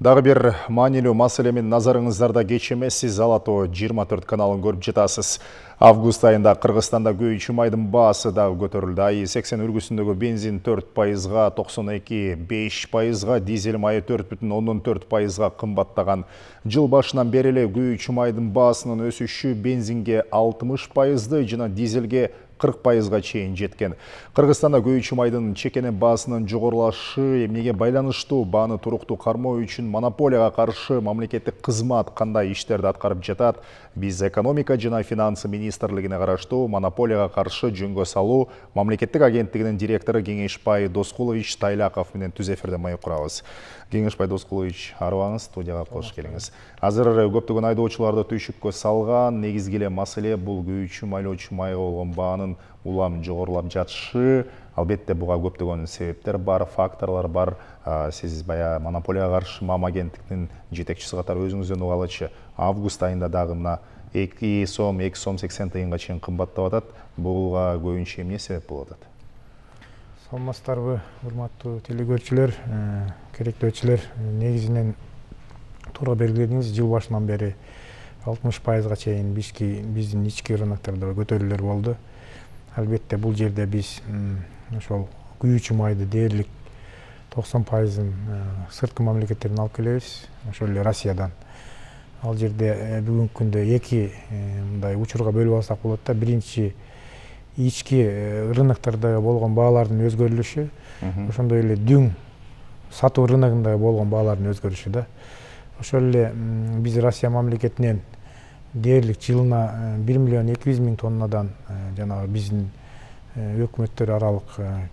Дагы бир маанилүү маселе менен назарыңыздарда кеч эмес, сиз Ала Тоо 24 каналын көрүп жатасыз. Август айында Кыргызстанда күйүүчү майдын баасы дагы көтөрүлдү. АИ-80 үлгүсүндөгү бензин 4%, 92 5%, дизель майы 4,4%га кымбаттаган. Жыл башынан бери эле күйүүчү майдын баасынын өсүшү бензинге 60%, жана дизелге 40%га чейин жеткен. Кыргызстанда күйүүчү майдын чекене баасынын жогорулашы эмнеге байланыштуу? Бааны туруктуу кармоо үчүн монополияга каршы мамлекеттик кызмат кандай иштерди аткарып жатат? Биз экономика жана финансы министрлигине караштуу монополияга каршы жөнгө салуу мамлекеттик агенттигинин директору Кеңешбай Доскулович Тайлаков менен түз эфирде маек курабыз. Кеңешбай Доскулович, арыбаңыз, студияга кош келиңиз. Азыр көптөгөн айдоочуларды түйшүккө салган негизги эле маселе бул күйүүчү майлоочу майга болгон баанын улам жогорулап жатышы. Албетте буга көптөгөн себептер бар, факторлор бар. Сиз бая монополияга каршы МАМ агенттигинин жетекчиси катары өзүңүздөн угалычы. Август айында дагы мына 2 сом 80 тыйынга чейин кымбаттап атат. Буга көбүнчө эмне себеп болуп атат? Саламатсыздарбы, урматтуу телекөрүүчүлөр, керектөөчүлөр. Негизинен туура белгиледиңиз, жыл башынан бери 60%га чейин биздин ички рыноктарда көтөрүүлөр болду. Албетте бул жерде биз ошол күйүүчү майды дээрлик 90%-ын сырткы мамлекеттерден алып келебиз, ошол эле Россиядан. Ал жерде бүгүнкү күндө эки мындай учурга бөлүп алсак болот да. Биринчи, ички рыноктарда болгон баалардын өзгөрүлүшү, ошондой эле дүң сатуу рыногунда болгон баалардын өзгөрүшү да. Ошол эле биз Россия мамлекетинен дээрлик жылына 1,2 миллион тоннадан жанагы биздин өкмөттөр аралык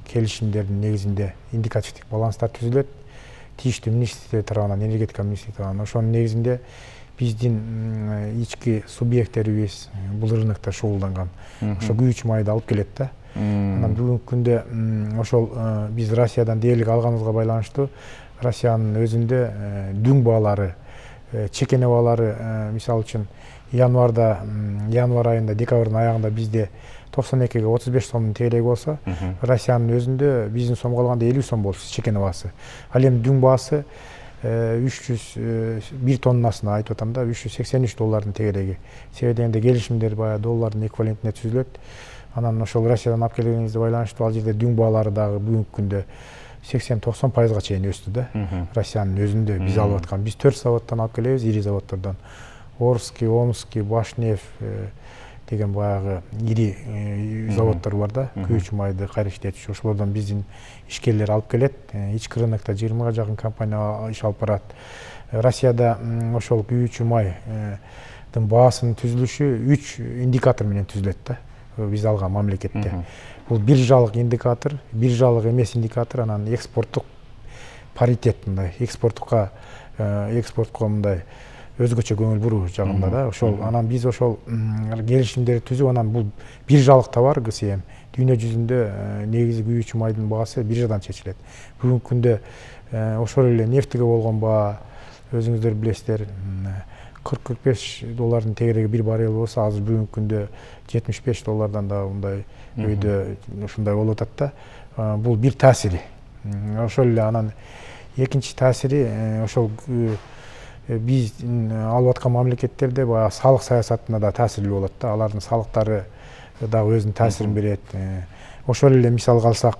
келишимдердин негизинде индикативдик баланстар түзүлөт. Тийиштүү министрликтер тарабынан, энергетика министрлиги тарабынан. Ошонун негизинде биздин ички субъекттерибиз бул рынокто шугулданган. Ошо күйүүчү майды алып келет да. Анан бүгүнкү күндө ошол биз Россиядан дээрлик алганыбызга байланыштуу Россиянын өзүндө дүң баалары, чекене баалары, мисалы үчүн январ айында, декабрдын аягында бизде 92-ге 35 сомдун тегереги болсо, Россиянын өзүндө биздин сомго алганда 50 сом болчу чекене баасы. Ал эми дүң баасы 301 тоннасына айтып атам да, $383 тегереги. Себеби дегенде келишимдер баягы доллардын эквивалентине түзүлөт. Анан ошол Россиядан алып келгенибизге байланыштуу ал жерде дүң баалары дагы бүгүнкү күндө 80-90%га чейин өстү да. Россиянын өзүндө биз алып аткан. Биз 4 заводдон алып келебиз, ири заводдордон. Орский, Омский, Башнефть деген баягы ири заводдор бар да, күйүүчү майды кайра иштетүүчү. Ошолордон биздин ишкерлер алып келет. Ички рынокто 20га жакын компания иш алып барат. Россияда ошол күйүүчү майдын баасынын түзүлүшү 3 индикатор менен түзүлөт да. Биз алган мамлекетте. Бул биржалык индикатор, биржалык эмес индикатор, анан экспорттук паритет мындай, экспортко мындай өзгөчө көңүл буруу жагында да. Ошол анан биз ошол келишимдерди түзүп, анан бул биржалык товар ГСМ. Дүйнө жүзүндө негизи күйүүчү майдын баасы биржадан чечилет. Бүгүнкү күндө ошол эле нефтиге болгон баа өзүңүздөр билесиздер, $40-45 тегереги бир баррель болсо, азыр бүгүнкү күндө $75 да мындай өйдө ушундай болуп атат да. Бул бир таасири. Ошол эле анан экинчи таасири ошол биз алып аткан мамлекеттерде баягы салык саясатына да таасирлүү болот да. Алардын салыктары дагы өзүнүн таасирин берет. Ошол эле мисалга алсак,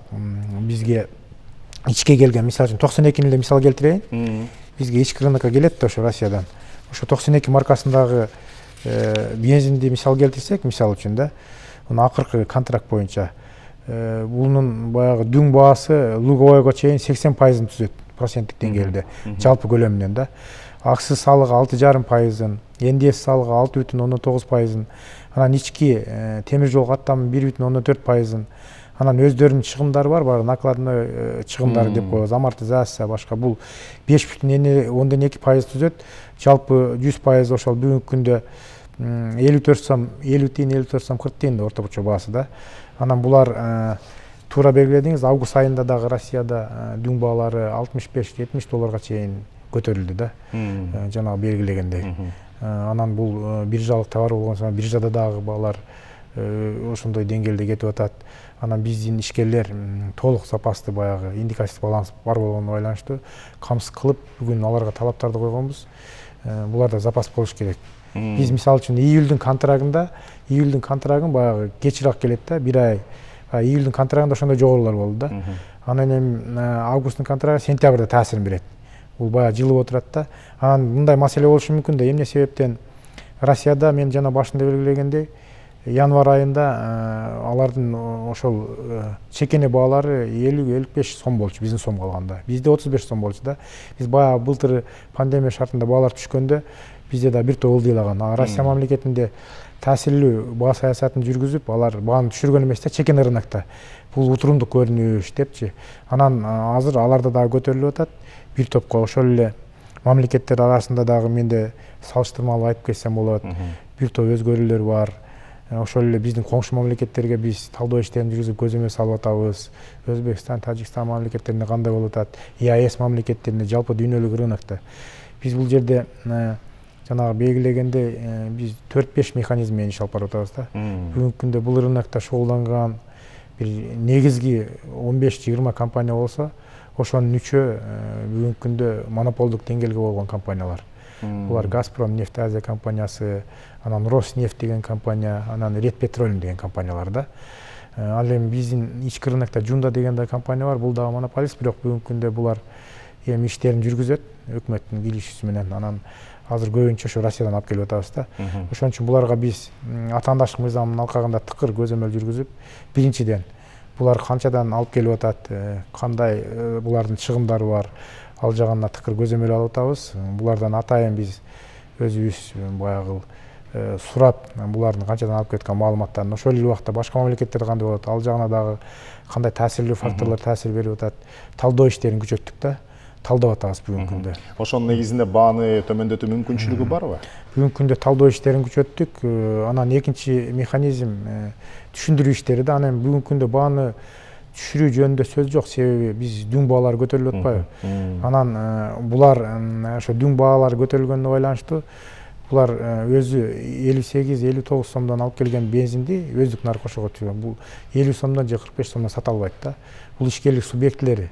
бизге ичке келген, мисалы үчүн 92-ни эле мисал келтирейин. Бизге ички рынокко келет да ошо Россиядан. Ошо 92 маркасындагы бензинди мисал келтирсек, мисалы үчүн да, мына акыркы контракт боюнча бунун баягы дүң баасы луговойго чейин 80%-ын түзөт, проценттик деңгээлде, жалпы көлөмүнөн да. Аксыз салыгы 6,5%-ын, НДС салыгы 6,9%-ын, анан ички темир жол каттамы 1,14%-ын, анан өздөрүнүн чыгымдары бар, накладной чыгымдары деп коебуз, амортизация, башка. Бул 5,2% түзөт. Жалпы 100% ошол бүгүнкү күндө 54 сом, 50 тиын, 54 сом 40 тиын орточо баасы да. Анан булар туура белгиледиңиз, август айында дагы Россияда дүң баалары $65-70 чейин көтөрүлдү да. Жанагы белгилегендей. Анан бул биржалык товар болгон соң биржада дагы баалар ошондой деңгээлде кетип атат. Анан биздин ишкерлер толук запасты баягы индикативдик баланс бар болгонуна байланыштуу камсыз кылып бүгүн аларга талаптарды койгонбуз. Буларда запас болуш керек. Биз мисалы үчүн июлдун контрагын баягы кечирээк келет да, 1 ай. Июлдун контрагында ошондой жогорулар болду да. Анан эми августтун контрагы сентябрда таасирин берет. Бул баягы жылып отурат да. Анан мындай маселе болушу мүмкүн да. Эмне себептен Россияда мен жана башында белгилегендей январь айында алардын ошол чекене баалары 50-55 сом болчу биздин сомго алганда. Бизде 35 сом болчу да. Биз баягы былтыр пандемия шартында баалар түшкөндө бизде да бир топ ылдыйлаган. Россия мамлекетинде таасирлүү баа саясатын жүргүзүп, алар бааны түшүргөн эмес да, чекене рынокто. Бул утурумдук көрүнүш депчи. Анан азыр аларда дагы көтөрүлүп атат. Бир топко ошол эле мамлекеттер арасында дагы менде салыштырмалуу айтып кетсем болот. Бир топ өзгөрүүлөр бар. Ошол эле биздин коңшу мамлекеттерге биз талдоо иштерин жүргүзүп көзөмөл салып атабыз. Өзбекстан, Тажикстан мамлекеттеринде кандай болуп атат, ЕАЭС мамлекеттеринде, жалпы дүйнөлүк рынокто. Биз бул жерде жанагы белгилегендей биз 4-5 механизм менен иш алып барып атабыз да. Бүгүнкү күндө бул рынокто шогулданган бир негизги 15-20 компания болсо, ошонун 3-өө бүгүнкү күндө монополдук деңгээлге болгон компаниялар. Булар Газпром нефть Азия компаниясы, анан Роснефть деген компания, анан Ред Петролиум деген компаниялар да. Ал эми биздин ички рынокто Жунда деген да компания бар. Бул дагы монополист, бирок бүгүнкү күндө булар эми иштерин жүргүзөт өкмөттүн киришүүсү менен. Анан азыр көбүнчө ошо Россиядан алып келип атабыз да. Ошон үчүн буларга биз атаандашчылык мыйзамынын алкагында тыкыр көзөмөл жүргүзүп, биринчиден булар канчадан алып келип атат, кандай булардын чыгымдары бар, ал жагына тыкыр көзөмөл алып атабыз. Булардан атайын биз өзүбүз баягы сурап, булардын канчадан алып кеткен маалыматтарын, ошол эле убакта башка мамлекеттерде кандай болот, ал жагына дагы кандай таасирлүү факторлор таасир берип атат, талдоо иштерин күчөттүк да. Талдап атабыз бүгүнкү күндө. Ошонун негизинде бааны төмөндөтүү мүмкүнчүлүгү барбы? Бүгүнкү күндө талдоо иштерин күчөттүк. Анан экинчи механизм түшүндүрүү иштери да. Анан бүгүнкү күндө бааны түшүрүү жөнүндө сөз жок, себеби биз дүң баалар көтөрүлүп атпайбы? Анан булар ошо дүң баалар көтөрүлгөнүнө байланыштуу булар өзү 58-59 сомдон алып келген бензинди өздүк наркы ошого түшүргөн. Бул 50 сомдон же 45 сомдон сата албайт да. Бул ишкерлик субъектилери.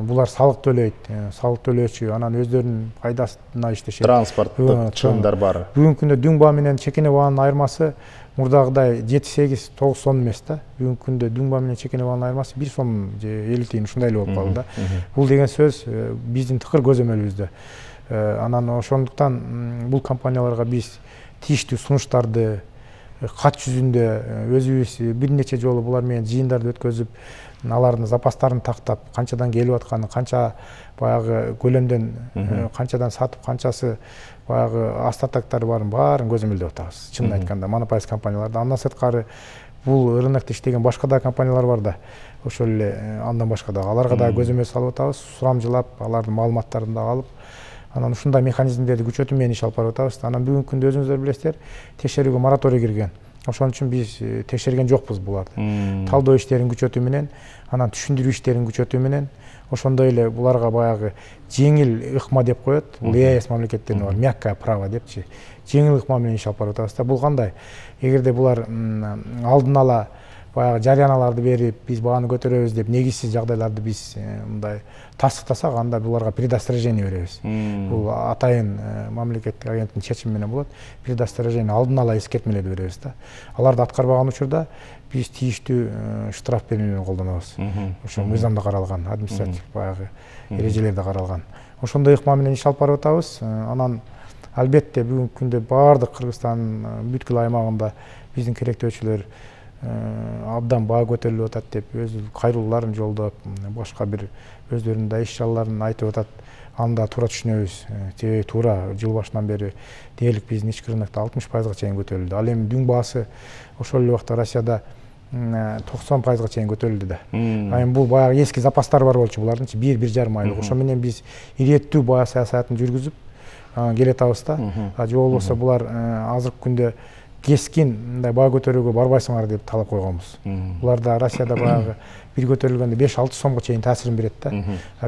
Булар салык төлөйт, салык төлөөчү, анан өздөрүнүн пайдасына иштешет. Транспорттук чыгымдар бар. Бүгүнкү күндө дүң баа менен чекене баанын айырмасы мурдагыдай 7-8-9 сом эмес да. Бүгүнкү күндө дүң баа менен чекене баанын айырмасы 1 сом же 50 тиын ушундай эле болуп калды да. Бул деген сөз биздин тыкыр көзөмөлүбүздө. Анан ошондуктан бул компанияларга биз тийиштүү сунуштарды кат жүзүндө өзүбүз бир нече жолу булар менен жыйындарды өткөзүп, алардын запастарын тактап, канчадан келип атканын, канча баягы көлөмдөн канчадан сатып, канчасы баягы астатактары баарын көзөмөлдөп атабыз. Чынын айтканда, монополист компанияларда. Андан сырткары бул рынокто иштеген башка да компаниялар бар да. Ошол эле андан башка да аларга да көзөмөл салып атабыз, сурамжылап, алардын маалыматтарын да алып, анан ушундай механизмдерди күчөтүү менен иш алып барып атабыз. Анан бүгүнкү күндө өзүңүздөр билесиздер, текшерүүгө мораторий кирген. Ошон үчүн биз текшерген жокпуз буларды. Талдоо иштерин күчөтүү менен, анан түшүндүрүү иштерин күчөтүү менен, ошондой эле буларга баягы жеңил ыкма деп коет. Бул ЕАЭС мамлекеттеринде бар, мягкое право депчи. Жеңил ыкма менен иш алып барып атабыз да. Бул кандай? Эгерде булар алдын ала баягы жарыяналарды берип, биз бааны көтөрөбүз деп негизсиз жагдайларды биз мындай тастыктасак, анда буларга предосторожение беребиз. Бул атайын мамлекеттик агенттиктин чечими менен болот. Предосторожение алдын ала эскертмелерди беребиз да. Аларды аткарбаган учурда биз тийиштүү штраф бермелерин колдонобуз. Ошо мыйзамда каралган, административ баягы эрежелерде каралган. Ошондой ыкма менен иш алып барып атабыз. Анан албетте бүгүнкү күндө баардык Кыргызстандын бүткүл аймагында биздин керектөөчүлөр абдан баа көтөрүлүп атат деп өз кайрылууларын жолдоп, башка бир өздөрүнүн да иш чараларын айтып атат. Аны да туура түшүнөбүз. Себеби туура жыл башынан бери дээрлик биздин ички рынокто 60%га чейин көтөрүлдү. Ал эми дүң баасы ошол эле убакта Россияда 90%га чейин көтөрүлдү да. Эми бул баягы эски запастар бар болчу булардынчы 1-1,5 айлык. Ошо менен биз иреттүү баа саясатын жүргүзүп келе атабыз да. Же болбосо булар азыркы күндө кескин мындай баа көтөрүүгө барбайсыңар деп талап койгонбуз. Булар да Россияда баягы бир көтөрүлгөндө 5-6 сомго чейин таасирин берет да.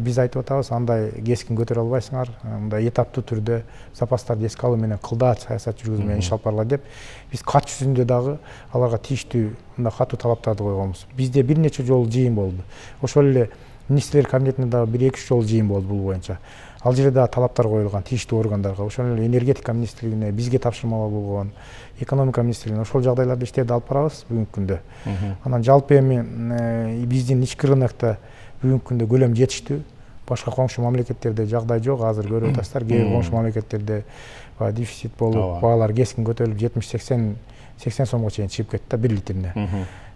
Биз айтып атабыз, андай кескин көтөрө албайсыңар, мындай этаптуу түрдө запастарды эске алуу менен кылдаат саясат жүргүзүү менен иш алып баргыла деп биз кат жүзүндө дагы аларга тийиштүү мындай катуу талаптарды койгонбуз. Бизде бир нече жолу жыйын болду. Ошол эле министрлер кабинетинде дагы 1-2 жолу жыйын болду бул боюнча. Ал жерде дагы талаптар коюлган тийиштүү органдарга, ошол эле энергетика министрлигине бизге тапшырмалар болгон, экономика министрлигине ошол жагдайларда иштерди алып барабыз бүгүнкү күндө. Анан жалпы эми биздин ички рынокто бүгүнкү күндө көлөм жетиштүү. Башка коңшу мамлекеттерде жагдай жок. Азыр көрүп атасыздар, кээ бир коңшу мамлекеттерде дефицит болуп, баалар кескин көтөрүлүп 70-80 сомго чейин чыгып кетти да 1 литрине.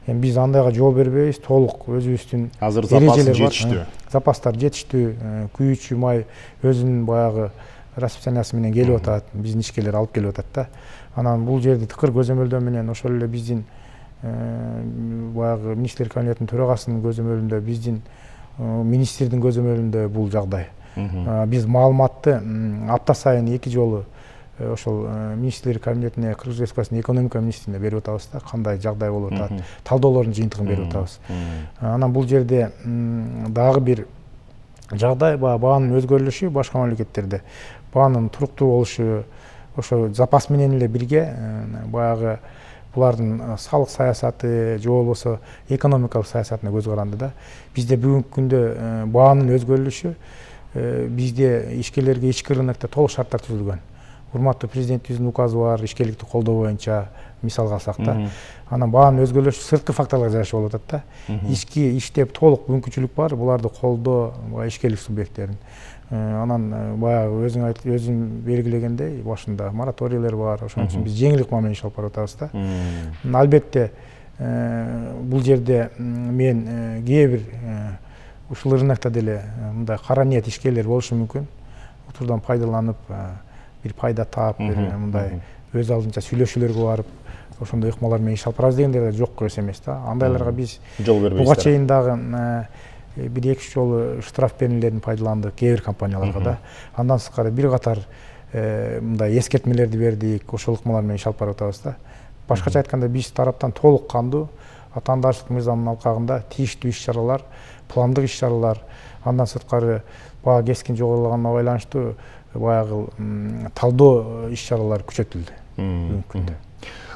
Эми биз андайга жол бербейбиз, толук өзүбүздүн азыр запасы жетиштүү. Запастар жетиштүү, күйүүчү май өзүнүн баягы расписаниясы менен келип атат, биздин ишкерлер алып келип атат да. Анан бул жерди тыкыр көзөмөлдөө менен ошол эле биздин баягы министрлер кабинетинин төрагасынын көзөмөлүндө, биздин министрдин көзөмөлүндө бул жагдай. Биз маалыматты апта сайын 2 жолу ошол министрлер кабинетине, Кыргыз Республикасынын экономика министрине берип атабыз да, кандай жагдай болуп атат, талдоолордун жыйынтыгын берип атабыз. Анан бул жерде дагы бир жагдай баанын өзгөрүлүшү башка мамлекеттерде. Баанын туруктуу болушу ошо запас менен эле бирге баягы булардын салык саясаты же болбосо экономикалык саясатына көз каранды да. Бизде бүгүнкү күндө баанын өзгөрүлүшү бизде ишкерлерге ички рынокто толук шарттар түзүлгөн. Урматтуу президентибиздин указы бар, ишкерликти колдоо боюнча мисалга алсак да. Анан баанын өзгөрүлүшү сырткы факторлорго жараша болуп атат да. Ички иштеп толук мүмкүнчүлүк бар буларды колдоо ишкерлик субъекттерин. Анан баягы өзүң белгилегендей башында мораторийлер бар, ошон үчүн биз жеңилдик менен иш алып барып атабыз да. Албетте бул жерде мен кээ бир ушул рынокто деле мындай кара ниет ишкерлер болушу мүмкүн. Утурдан пайдаланып бир пайда таап, мындай өз алдынча сүйлөшүүлөргө барып, ошондой ыкмалар менен иш алып барабыз дегендер да жок эмес эмес да. Андайларга биз жол бербейбиз. Буга чейин дагы 1-2 жолу штраф берүүлөрүн пайдаландык кээ бир компанияларга да. Андан сырткары бир катар мындай эскертмелерди бердик, ошол ыкмалар менен иш алып барып атабыз да. Башкача айтканда биз тараптан толук кандуу атаандаштык мыйзамынын алкагында тийиштүү иш-чаралар, пландык иш-чаралар, андан сырткары баа кескин жогорулаганына байланыштуу баягы талдоо иш-чаралары күчөтүлдү бүгүнкү күндө.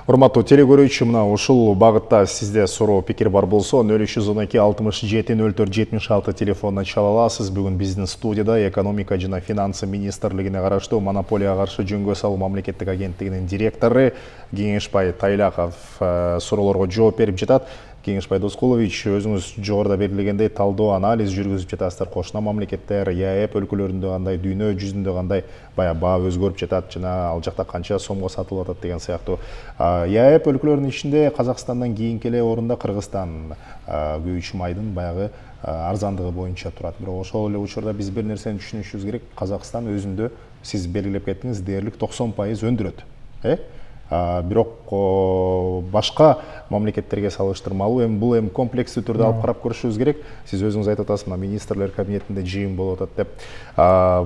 Урматтуу телекөрүүчү, мына ушул багытта сизде суроо пикир бар болсо 0312 67 04 76 телефонуна чала аласыз. Бүгүн биздин студияда экономика жана финансы министрлигине караштуу монополияга каршы жөнгө салуу мамлекеттик агенттигинин директору Кеңешбай Тайлаков суроолорго жооп берип жатат. Кеңешбай Доскулович, өзүңүз жогоруда белгилегендей талдоо анализ жүргүзүп жатасыздар. Кошуна мамлекеттер, ЕАЭП өлкөлөрүндө кандай, дүйнө жүзүндө кандай баа өзгөрүп жатат жана ал жакта канча сомго сатылып атат деген сыяктуу. ЕАЭП өлкөлөрүнүн ичинде Казакстандан кийинки эле орунда Кыргызстан күйүүчү майдын баягы арзандыгы боюнча турат. Бирок ошол эле учурда биз бир нерсени түшүнүшүбүз керек. Казакстан өзүндө сиз белгилеп кеттиңиз, дээрлик 90% өндүрөт. Бирок башка мамлекеттерге салыштырмалуу бул комплекстүү түрдө алып карап көрүшүбүз керек. Сиз өзүңүз айтып атасыз, министрлер кабинетинде жыйын болуп атат деп.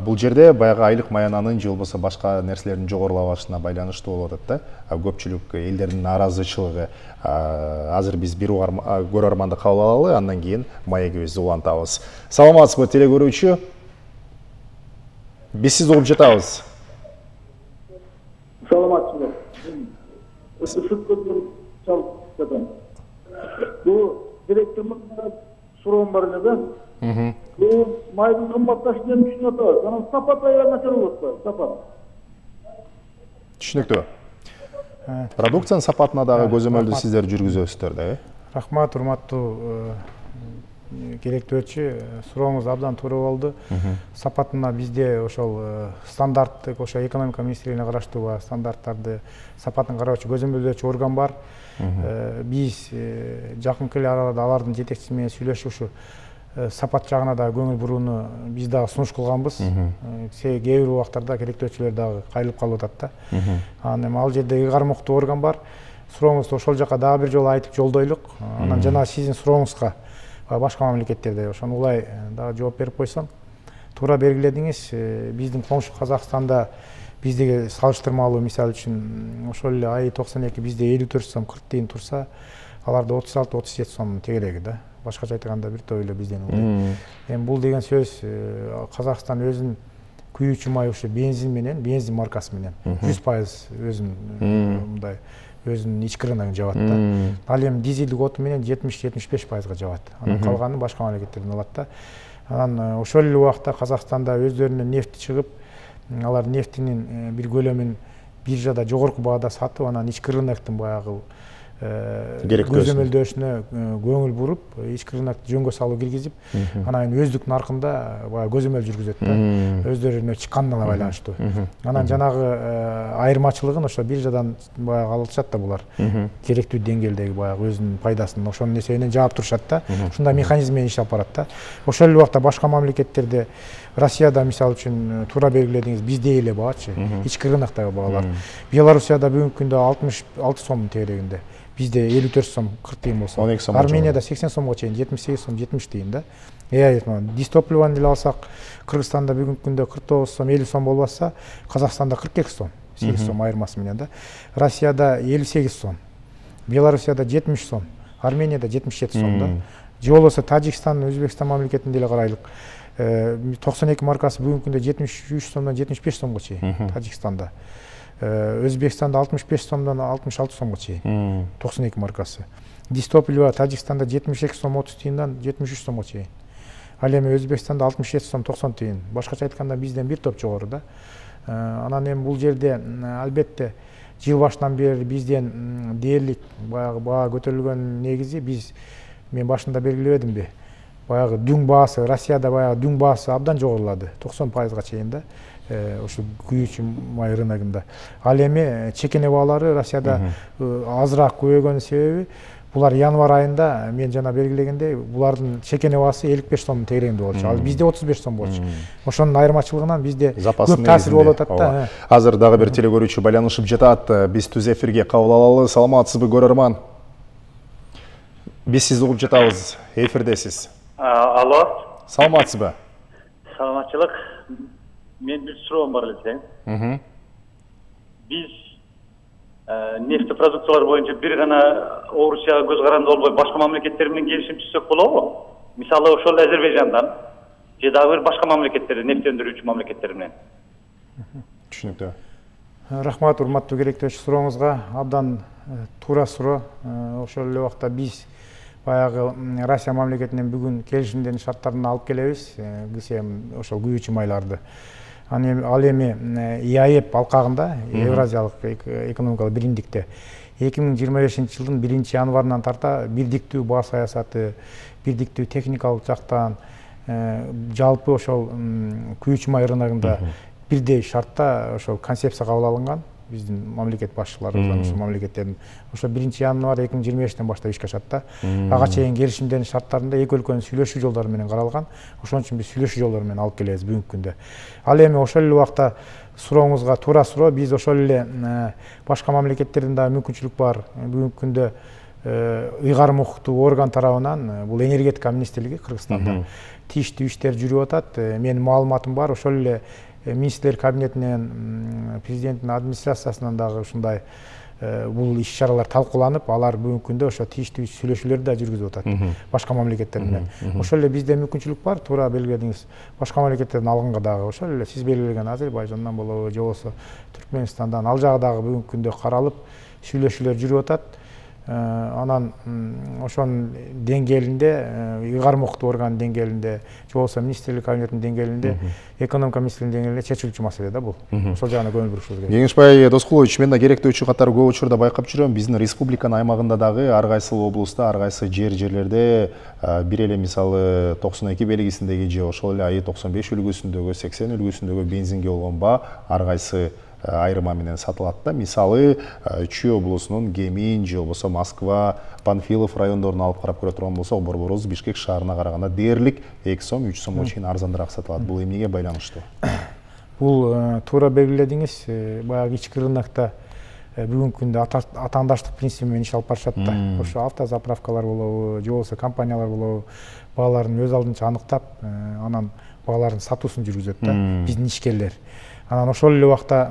Бул жерде баягы айлык маянанын же болбосо башка нерселердин жогорулабашына байланыштуу болуп атат да. Көпчүлүк элдердин нааразычылыгы. Азыр биз бир көрөрманды кабыл алалы, андан кийин маегибизди улантабыз. Саламатсызбы, телекөрүүчү? Биз сизди угуп жатабыз. Саламатсызбы. Бул директордун суроом бар эле да. Бул майдын кымбатташуун түшүнүп атабыз. Анан сапат аябай начар болуп атпайбы? Сапат. Түшүнүктүү. Продукциянын сапатына дагы көзөмөлдү сиздер жүргүзөсүздөр да, Рахмат, урматтуу керектөөчү, сурооңуз абдан туура болду. Сапатына бизде ошол стандарттык, ошо экономика министрлигине караштуу стандарттарды сапатын кароочу, көзөмөлдөөчү орган бар. Биз жакынкы эле араларда алардын жетекчиси менен сүйлөшүп ушу сапат жагына дагы көңүл бурууну биз дагы сунуш кылганбыз. Кээ бир убактарда керектөөчүлөр дагы кайрылып калып атат да. Анан ал жерде эки кармоктуу орган бар. Сурооңузду ошол жака дагы бир жолу айтып жолдойлук. Анан жана сиздин сурооңузга башка мамлекеттерде ошону улай дагы жооп берип койсом, туура белгиледиңиз. Биздин коңшу Казакстанда биздеги салыштырмалуу мисалы үчүн ошол эле АИ 92 бизде 54 сом 40 тыйын турса, аларда 36-37 сом тегереги да. Башкача айтканда бир топ эле бизден ылдый. Эми бул деген сөз Казакстан өзүнүн күйүүчү май ушу бензин маркасы менен 100% өзүнүн мындай өзүнүн ички рыногун жабат да. Ал эми дизелдик оту менен 70-75%га жабат. Анан калганын башка мамлекеттерден алат да. Анан ошол эле убакта Казакстанда өздөрүнүн нефти чыгып, алар нефтинин бир көлөмүн биржада жогорку баада сатып, анан ички рыноктун баягы көзөмөлдөшүнө көңүл буруп, ички рынокду жөнгө салуу киргизип, анан өздүк наркында баягы көзөмөл жүргүзөт да. Өздөрүнө чыкканына байланыштуу. Анан жанагы айырмачылыгын ошо биржадан баягы алышат да булар. Керектүү деңгээлдеги баягы өзүнүн пайдасын ошонун эсебинен жаап турушат да. Ушундай механизм менен иш алып барат да. Ошол эле убакта башка мамлекеттерде, Россияда мисалы үчүн туура белгиледиңиз, биздей эле баачы, ички рыноктогу баалар. Белоруссияда бүгүнкү күндө 66 сом тегерегинде. Бизде 54 сом 40 тыйын болсо, Арменияда 80 сомго чейин, 78 сом 70 тыйын да. Дистопливаны деле алсак, Кыргызстанда бүгүнкү күндө 49 сом 50 сом болбаса, Казакстанда 42 сом 8 сом айырмасы менен да. Россияда 58 сом, Белоруссияда 70 сом, Арменияда 77 сом да. Же болбосо Тажикстан, Өзбекстан мамлекетин деле карайлык. 92 маркасы бүгүнкү күндө 73 сомдон 75 сомго чейин Тажикстанда. Өзбекстанда 65 сомдон 66 сомго чейин 92 маркасы. Дистоплива Тажикстанда 72 сом 30 тыйындан 73 сомго чейин. Ал эми Өзбекстанда 67 сом 90 тыйын. Башкача айтканда бизден бир топ жогору да. Анан эми бул жерде албетте жыл башынан бери бизден дээрлик баягы баа көтөрүлгөн негизи мен башында белгилебедимби? Баягы дүң баасы, Россияда баягы дүң баасы абдан жогорулады, 90%га чейин да. Ошо күйүүчү май рыногунда. Ал эми чекене баалары Россияда азыраак көбөйгөнүн себеби булар январь айында мен жана белгилегендей булардын чекене баасы 55 сом тегерегинде болчу. Ал бизде 35 сом болчу. Ошонун айырмачылыгынан бизде көп таасир болуп атат да. Азыр дагы бир телекөрүүчү байланышып жатат. Биз түз эфирге кабыл алалы. Саламатсызбы көрөрман? Биз сизди угуп жатабыз. Эфирдесиз. Алло. Саламатсызбы? Саламатчылык. Мен бир суроом бар эле. Биз нефть продукциялар боюнча бир гана Орусияга көз каранды болбой, башка мамлекеттер менен келишим түзсөк болобу? Мисалы ошол Азербайжандан же дагы бир башка мамлекеттер, нефть өндүрүүчү мамлекеттер менен. Түшүнүктүү. Рахмат, урматтуу керектөөчү сурооңузга. Абдан туура суроо. Ошол эле убакта биз баягы Россия мамлекетинен бүгүн келишимдердин шарттарын алып келебиз. ГСМ ошол күйүүчү майларды. Ал эми ИАЭП алкагында, Евразиялык экономикалык биримдикте 2025-жылдын 1-январынан тарта бирдиктүү баа саясаты, бирдиктүү техникалык жактан жалпы ошол күйүүчү май рыногунда бирдей шартта ошол концепция кабыл алынган. Биздин мамлекет башчыларыбыздан ошол мамлекеттердин ошо 1-январь 2025-тен баштап ишке ашат да. Ага чейин келишимдердин шарттарында эки өлкөнүн сүйлөшүү жолдору менен каралган. Ошон үчүн биз сүйлөшүү жолдору менен алып келебиз бүгүнкү күндө. Ал эми ошол эле убакта сурооңузга туура суроо. Биз ошол эле башка мамлекеттердин дагы мүмкүнчүлүк бар. Бүгүнкү күндө ыйгарым укуктуу орган тарабынан бул энергетика министрлиги Кыргызстанда тийиштүү иштер жүрүп атат. Менин маалыматым бар. Ошол эле министрлер кабинетинен, президенттин администрациясынан дагы ушундай бул иш-чаралар талкууланып, алар бүгүнкү күндө ошо тийиштүү сүйлөшүүлөрдү да жүргүзүп атат башка мамлекеттер менен. Ошол эле бизде мүмкүнчүлүк бар, туура белгиледиңиз. Башка мамлекеттерден алганга дагы ошол эле сиз белгилеген Азербайжандан болобу, же болбосо Түркменистандан, ал жагы дагы бүгүнкү күндө каралып, сүйлөшүүлөр жүрүп атат. Анан ошонун деңгээлинде, ыйгарым укуктуу орган деңгээлинде, же болбосо министрлик кабинетинин деңгээлинде, экономика министрлигинин деңгээлинде чечилүүчү маселе да бул. Ошол жагына көңүл бурушубуз керек. Кеңешбай Доскулович, мен да керектөөчү катары көп учурда байкап жүрөм. Биздин республиканын аймагында дагы ар кайсы облустта, ар кайсы жерлерде бир эле мисалы 92 белгисиндеги же ошол эле АИ 95 үлгүсүндөгү, 80 үлгүсүндөгү бензинге болгон баа ар кайсы айырма менен сатылат да. Мисалы Чүй облусунун Кемин же болбосо Москва, Панфилов райондорун алып карап көрө турган болсок, Борбороз, Бишкек шаарына караганда дээрлик 2 сом, 3 сомго чейин арзаныраак сатылат. Бул эмнеге байланыштуу? Бул туура белгиледиңиз. Баягы ички рынокто бүгүнкү күндө атаандаштык принциби менен иш алып барышат да. Ошо автозаправкалар болобу, же болбосо компаниялар болобу, бааларын өз алдынча аныктап, анан бааларын сатуусун жүргүзөт да, биздин ишкерлер. Анан ошол эле убакта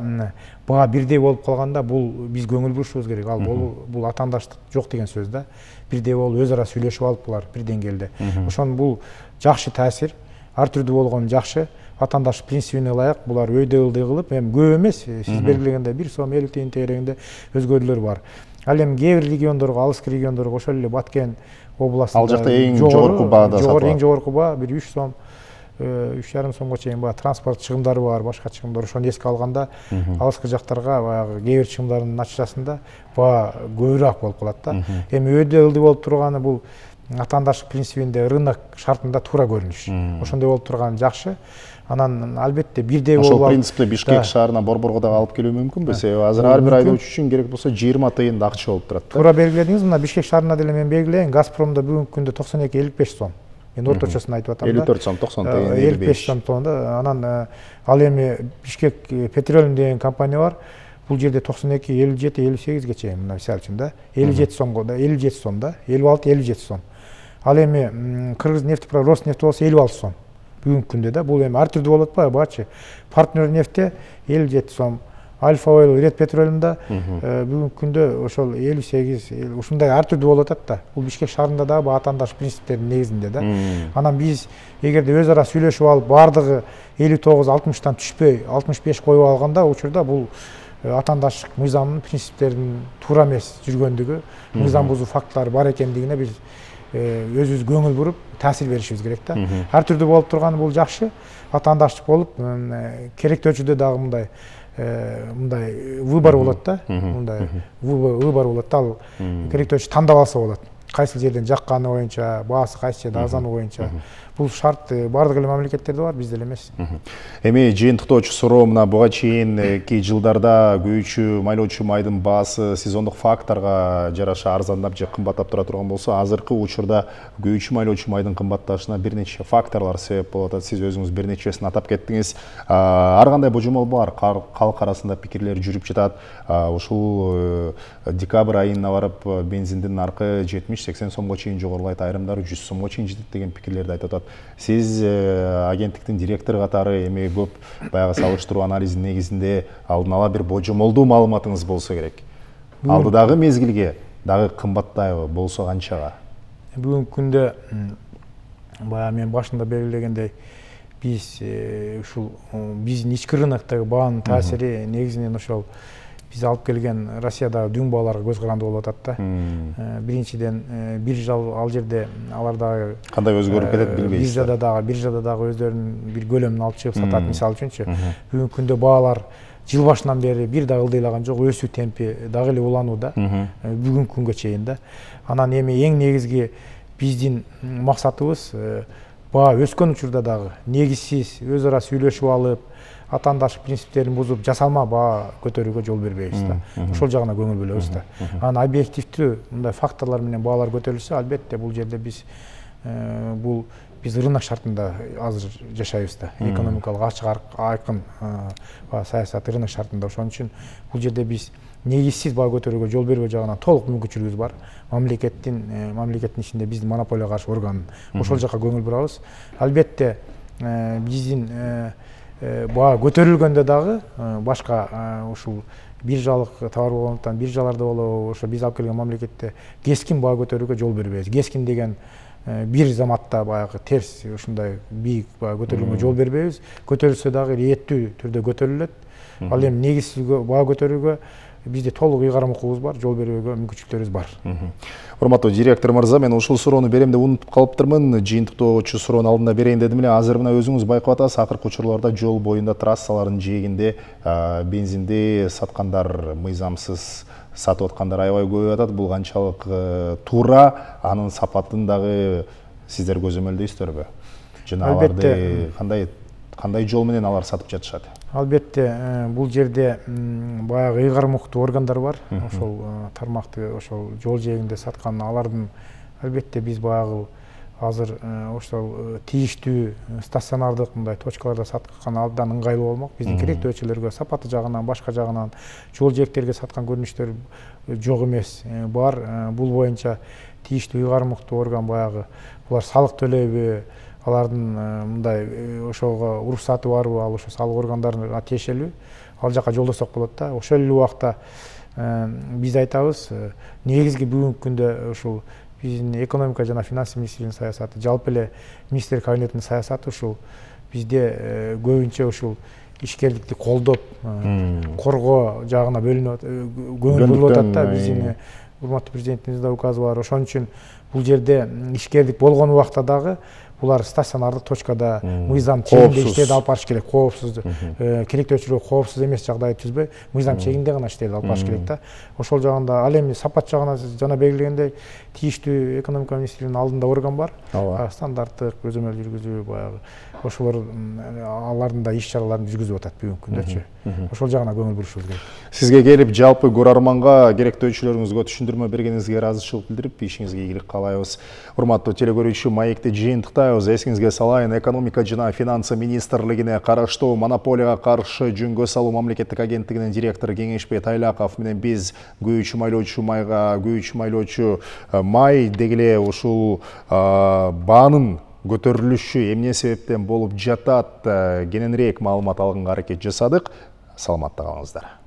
баа бирдей болуп калганда бул биз көңүл бурушубуз керек. Ал бул атаандаштык жок деген сөз да. Бирдей болуп өз ара сүйлөшүп алып булар бир деңгээлде. Ошон бул жакшы таасир, ар түрдүү болгон жакшы. Атаандаштык принцибине ылайык булар өйдө ылдый кылып, эми көп эмес, сиз белгилегендей 1 сом 50 тиын тегерегинде өзгөрүүлөр бар. Ал эми кээ бир региондорго, алыскы региондорго, ошол эле Баткен областында ал жакта эң жогорку баада сатылат. Эң жогорку баа 1 3 сом, 3,5 сомго чейин баа транспорт чыгымдары бар, башка чыгымдар. Ошону эске алганда, алыскы жактарга баягы кээ бир чыгымдардын натыйжасында баа көбүрөөк болуп калат да. Эми өйдө ылдый болуп турганы бул атаандаштык принцибинде рынок шартында туура көрүнүш. Ошондой болуп турганы жакшы. Анан албетте бирдей болуп. Ошол принципте Бишкек шаарына борборго дагы алып келүү мүмкүнбү? Себеби азыр ар бир айдоочу үчүн керек болсо 20 тыйын акча болуп турат да. Туура белгиледиңиз, мына Бишкек шаарына деле мен белгилейин. Газпромдо бүгүнкү күндө 92-55 сом. Мен орточосун айтып атам да. 54 сом, 90 тыйын, 55 сом тонда. Анан ал эми Бишкек Petroleum деген компания бар. Бул жерде 92, 57, 58ге чейин мына мисалы үчүн да. 57 сомго да, 57 сом да, 56, 57 сом. Ал эми Кыргыз нефтепром, Роснефть болсо 56 сом. Бүгүнкү күндө да бул эми ар түрдүү болуп атпайбы бачы. Партнер нефтте 57 сом, Альфа Ойл, Ред Петролиумда бүгүнкү күндө ошол 58, ушундай ар түрдүү болуп атат да. Бул Бишкек шаарында дагы атаандаштык принциптердин негизинде да. Анан биз эгерде өз ара сүйлөшүп алып бардыгы 59-60тан түшпөй 65 коюп алганда, учурда бул атаандаштык мыйзамынын принциптеринин туура эмес жүргөндүгү, мыйзам бузуу фактылары бар экендигине биз өзүбүз көңүл буруп таасир беришибиз керек да. Ар түрдүү болуп турганы бул жакшы. Атаандаштык болуп, керектөөчүдө дагы мындай выбор болот да. Мындай выбор болот да. Ал керектөөчү тандап алса болот. Кайсыл жерден жакканы боюнча, баасы кайсы жерде арзаны боюнча. Бул шарт бардык эле мамлекеттерде бар, бизде эле эмес. Эми жыйынтыктоочу суроо мына буга чейинки жылдарда күйүүчү, майлоочу майдын баасы сезондук факторго жараша арзандап же кымбаттап тура турган болсо, азыркы учурда күйүүчү, майлоочу майдын кымбатташына бир нече факторлор себеп болуп атат. Сиз өзүңүз бир нечесин атап кеттиңиз. Ар кандай божомол бар, калк арасында пикирлер жүрүп жатат. Ушул декабрь айына барып бензиндин наркы 70-80 сомго чейин жогорулайт, айрымдары 100 сомго чейин жетет деген пикирлерди айтып атат. Сиз агенттиктин директору катары эми көп баягы салыштыруу анализинин негизинде алдын ала бир божомолдуу маалыматыңыз болсо керек. Алдыдагы мезгилге дагы кымбаттайбы, болсо канчага? Бүгүнкү күндө баягы мен башында белгилегендей биз ушул биздин ички рыноктогу баанын таасири негизинен ошол биз алып келген Россиядагы дүң бааларга көз каранды болуп атат да. Биринчиден биржа ал жерде алар дагы кандай өзгөрүп кетет билбейбиз. Биржада дагы өздөрүнүн бир көлөмүн алып чыгып сатат. Мисалы үчүнчү, бүгүнкү күндө баалар жыл башынан бери бир дагы ылдыйлаган жок, өсүү темпи дагы эле уланууда бүгүнкү күнгө чейин да. Анан эми эң негизги биздин максатыбыз баа өскөн учурда дагы негизсиз өз ара сүйлөшүп алып, атаандаштык принциптерин бузуп жасалма баа көтөрүүгө жол бербейбиз да. Ошол жагына көңүл бөлөбүз да. Анан объективдүү мындай факторлор менен баалар көтөрүлсө, албетте бул жерде биз рынок шартында азыр жашайбыз да. Экономикалык ачык айкын саясат рынок шартында. Ошон үчүн бул жерде биз негизсиз баа көтөрүүгө жол бербөө жагынан толук мүмкүнчүлүгүбүз бар. Мамлекеттин ичинде биздин монополияга каршы орган ошол жакка көңүл бурабыз. Албетте биздин баа көтөрүлгөндө дагы башка ушул биржалык товар болгондуктан биржаларда болобу, ошо биз алып келген мамлекетте кескин баа көтөрүүгө жол бербейбиз. Кескин деген бир заматта баягы терс ушундай бийик баа көтөрүүгө жол бербейбиз. Көтөрүлсө дагы ирээттүү түрдө көтөрүлөт. Ал эми негизсиз баа көтөрүүгө бизде толук ыйгарым укугубуз бар, жол берүүгө мүмкүнчүлүктөрүбүз бар. Урматтуу директор мырза, мен ушул суроону берем деп унутуп калыптырмын. Жыйынтыктоочу суроону алдында берейин дедим эле. Азыр мына өзүңүз байкап атасыз, акыркы учурларда жол боюнда трассалардын жээгинде бензинди саткандар, мыйзамсыз сатып аткандар аябай көбөйүп атат. Бул канчалык туура, анын сапатын дагы сиздер көзөмөлдөйсүздарбы? Жана аларды кандай жол менен алар сатып жатышат? Албетте, бул жерде баягы ыйгарым укуктуу органдар бар. Ошол тармакты ошол жол жээгинде саткан алардын албетте биз баягы азыр ошол тийиштүү стационардык мындай точкаларда саткан абдан ыңгайлуу болмок. Биздин керектөөчүлөргө сапаты жагынан, башка жагынан жол жээктерге саткан көрүнүштөр жок эмес, бар. Бул боюнча тийиштүү ыйгарым укуктуу орган баягы булар салык төлөйбү, алардын мындай ошого уруксаты барбы, ал ошо салык органдарына тиешелүү, ал жака жолдосок болот да. Ошол эле убакта биз айтабыз, негизги бүгүнкү күндө ушул биздин экономика жана финансы министрлигинин саясаты, жалпы эле министрлер кабинетинин саясаты ушул бизде көбүнчө ушул ишкерликти колдоп, коргоо жагына көңүл бурулуп атат да. Биздин урматтуу президентибиздин да указы бар. Ошон үчүн бул жерде ишкерлик болгон убакта дагы булар стационардык точкада мыйзам чегинде иштеди алып барыш керек. Коопсуз, керектөөчүлөр коопсуз эмес жагдайды түзбөй, мыйзам чегинде гана иштеди алып барыш керек да. Ошол жагында, ал эми сапат жагына жана белгилегендей тийиштүү экономика министрлигинин алдында орган бар. Стандарттык көзөмөл жүргүзүү, баягы ошолор алардын да иш чараларын жүргүзүп атат бүгүнкү күндөчү. Ошол жагына көңүл бурушубуз керек. Сизге келип жалпы көрөрманга, керектөөчүлөрүңүзгө түшүндүрмө бергениңизге ыраазычылык билдирип, ишиңизге ийгилик каалайбыз. Урматтуу телегөрүүчү, маекти жыйынтыктайбыз. Эсиңизге салайын, экономика жана финансы министрлигине караштуу монополияга каршы жөнгө салуу мамлекеттик агенттигинин директору Кеңешбек Тайлаков менен биз күйүүчү майлоочу май дегеле ушул баанын көтөрүлүшү эмне себептен болуп жатат, кененирээк маалымат алганга аракет жасадык. Саламатта калыңыздар.